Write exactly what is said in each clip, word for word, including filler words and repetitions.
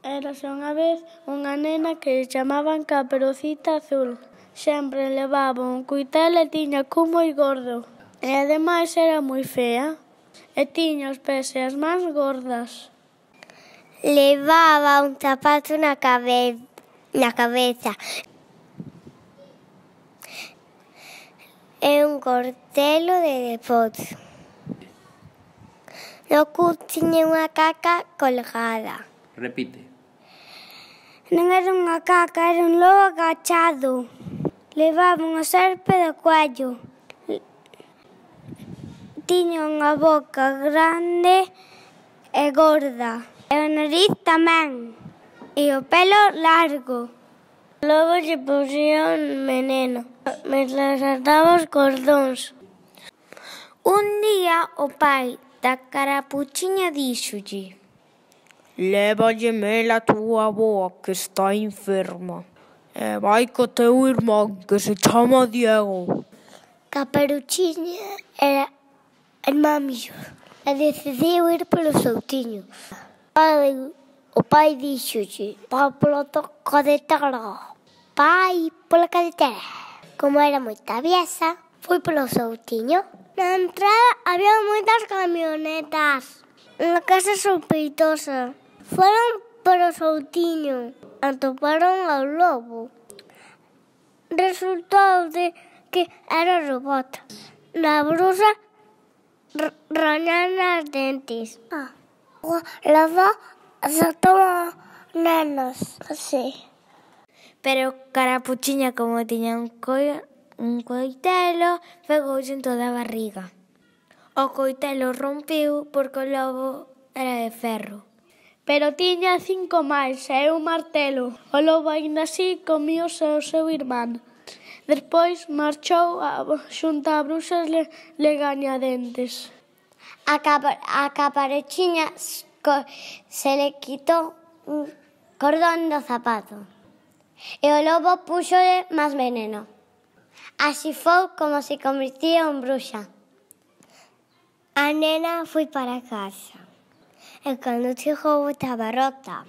Érase unha vez unha nena que chamaban Caperucita Azul. Sempre levaba un coitelo e tiña cu moi gordo. E ademais era moi fea. E tiña os pés e as mans gordas. Levaba un zapato na cabe na cabeza. E un cortelo de deporte. No cu tiña unha caca colgada. Repite. Non era unha caca, era un lobo agachado. Levaba unha serpe de cuello. Tiña unha boca grande e gorda. E o nariz tamén. E o pelo largo. Logo lle puxía un veneno, mentre ataba os cordóns. Un día o pai da Carapuchiña díxolle: lévalle mel a túa avoa que está enferma. E vai co teu irmán que se chama Diego. Caperuchiña era irmán mellor e decidiu ir polo seu tiño. O pai díxolle: vai pola cadetera. Pai, pola cadetera. Como era moi traviesa, foi polo seu tiño. Na entrada había moitas camionetas. Unha casa sospeitosa. Foron polo seu tiño. Atoparon ao lobo. Resultou de que era robot. Na bruxa rañan as dentes. Ah. Logo asaltou a nenas, así. Pero Carapuchiña, como tiña un, coi un coitelo, pegoulle en toda a barriga. O coitelo rompiu porque o lobo era de ferro. Pero tiña cinco máis e un martelo. O lobo aínda así comíose o seu irmán. Despois marchou a, xunto a bruxas le, legañadentes. A, capa, a Caperuchiña se le quitou un cordón do zapato e o lobo puxole máis veneno. Así foi como se convertía en bruxa. A nena foi para casa e cando chegou estaba rota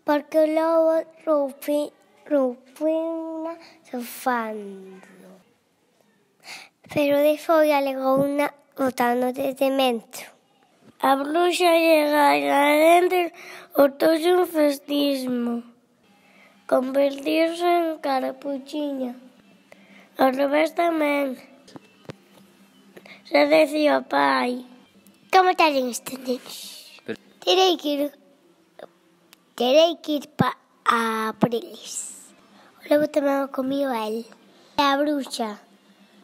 porque o lobo rompina sofando. Pero de foi alegouna botando desde dentro. A bruxa legañadentes botouse un festismo. Convertiuse en Carapuchiña. Ao revés tamén. Se decía o pai: como talen estes nenos? Terei que ir terei que ir pa, a por eles. O lobo tamén o comío a el. E a bruxa.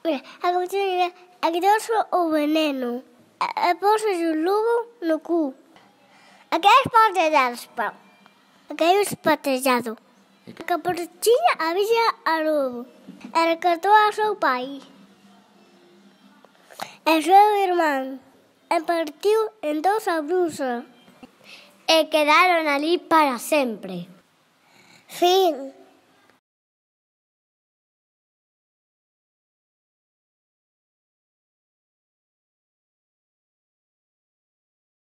Mira, a Caperuchiña a quitarse o veneno. E pósese o lobo no cu. A que é espatellado. A que é espatellado. A Caperuchiña avisa a lobo. E rescatou a seu pai. E seu irmán. E partiu en dous a bruxa. E quedaron ali para sempre. Fin.